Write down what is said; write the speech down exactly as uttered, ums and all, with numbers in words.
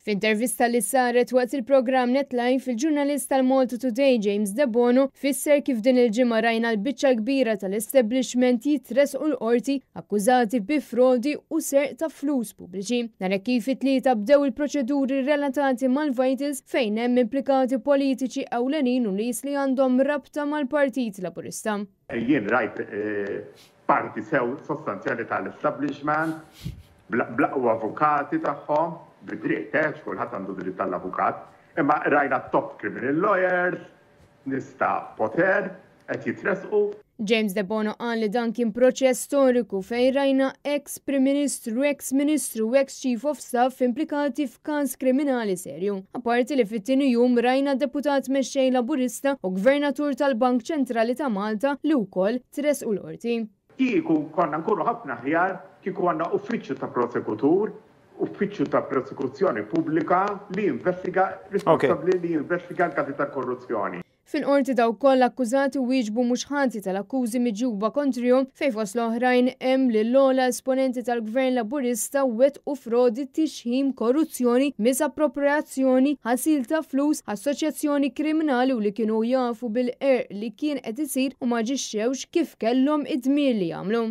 F'intervista li saret waqt il-programm Net Live, il-ġurnalist tal-Malta Today James Debono fisser kif din il-ġimgħa rajna l-biċċa kbira tal-establishment jitressqu l-qorti akkużati bi frodi u serq ta' flus pubbliċi. Nhar kif it-Tlieta bdew il-proċeduri relatati mal-Vitals, fejn hemm implikati politiċi ewlenin u nies li għandhom rabta mal-Partit Laburista. Jien rajt eh, parti sew sostanzjali tal-establishment bl-aqwa avukati tagħhom, bidritt, eh, kulħadd għandu dritt tal-avukat, imma rajna top criminal lawyers, nies ta' poter, qed jitressqu. James Debono qal li dan kien proċess storiku fejn rajna ex Prim Ministru, ex Ministru, ex Chief of Staff implikati f'każ kriminali serju. Apparti li fit-tieni jum rajna deputat mexxej Laburista u gvernatur tal-Bank Ċentrali ta' Malta li wkoll tressqu l-qorti. Kieku konna nkunu ħafna aħjar kieku għandna uffiċċju ta' prosekutur, uffiċċju ta' prosekuzzjoni pubblika li jinvestiga, responsabbli li jinvestiga l-każi ta' korruzzjoni. Fil-qorti dawk kollha akkużati wieġbu mhux ħati tal-akkużi miġjuba kontrihom, fejn fost l-oħrajn hemm li l-ogħla esponenti tal-Gvern Laburista wettqu frodi, tixħim, korruzzjoni, misappropriazzjoni, ħasil ta' flus, assoċjazzjoni kriminali u li kienu jafu bil-qerq li kien qed isir u ma aġixxewx kif kellhom id-dmir li jagħmlu.